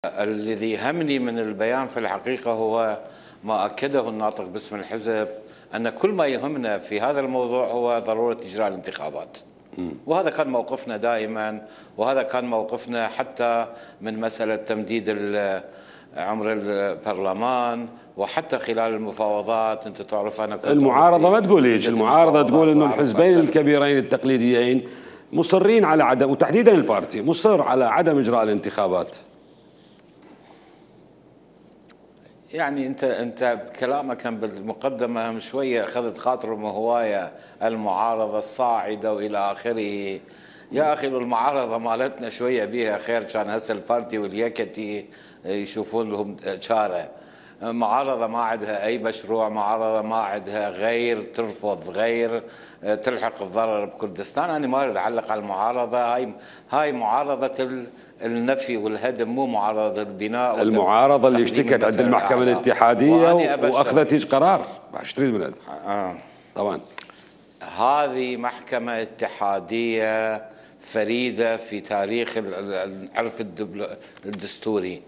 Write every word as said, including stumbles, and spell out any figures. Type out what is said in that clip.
الذي يهمني من البيان في الحقيقة هو ما أكده الناطق باسم الحزب، أن كل ما يهمنا في هذا الموضوع هو ضرورة إجراء الانتخابات. وهذا كان موقفنا دائما، وهذا كان موقفنا حتى من مسألة تمديد عمر البرلمان، وحتى خلال المفاوضات. انت تعرف انا كنت المعارضه ما تقول هيك، المعارضه تقول انه الحزبين الكبيرين التقليديين مصرين على عدم، وتحديدا البارتي مصر على عدم اجراء الانتخابات. يعني انت انت كلامك كان بالمقدمه من شويه اخذت خاطرهم هوايه المعارضه الصاعده والى اخره. يا اخي المعارضه مالتنا شويه بيها خير، كان هسه البارتي واليكتي يشوفون لهم شاره. معارضه ما عندها اي مشروع، معارضه ما عندها غير ترفض، غير تلحق الضرر بكردستان. انا ما اريد اعلق على المعارضه، هاي هاي معارضه النفي والهدم، مو معارضه البناء. المعارضه اللي اشتكت عند المحكمه الاتحاديه واخذت هيك قرار. ايش تريد من آه. طبعا هذه محكمه اتحاديه فريده في تاريخ العرف الدستوري.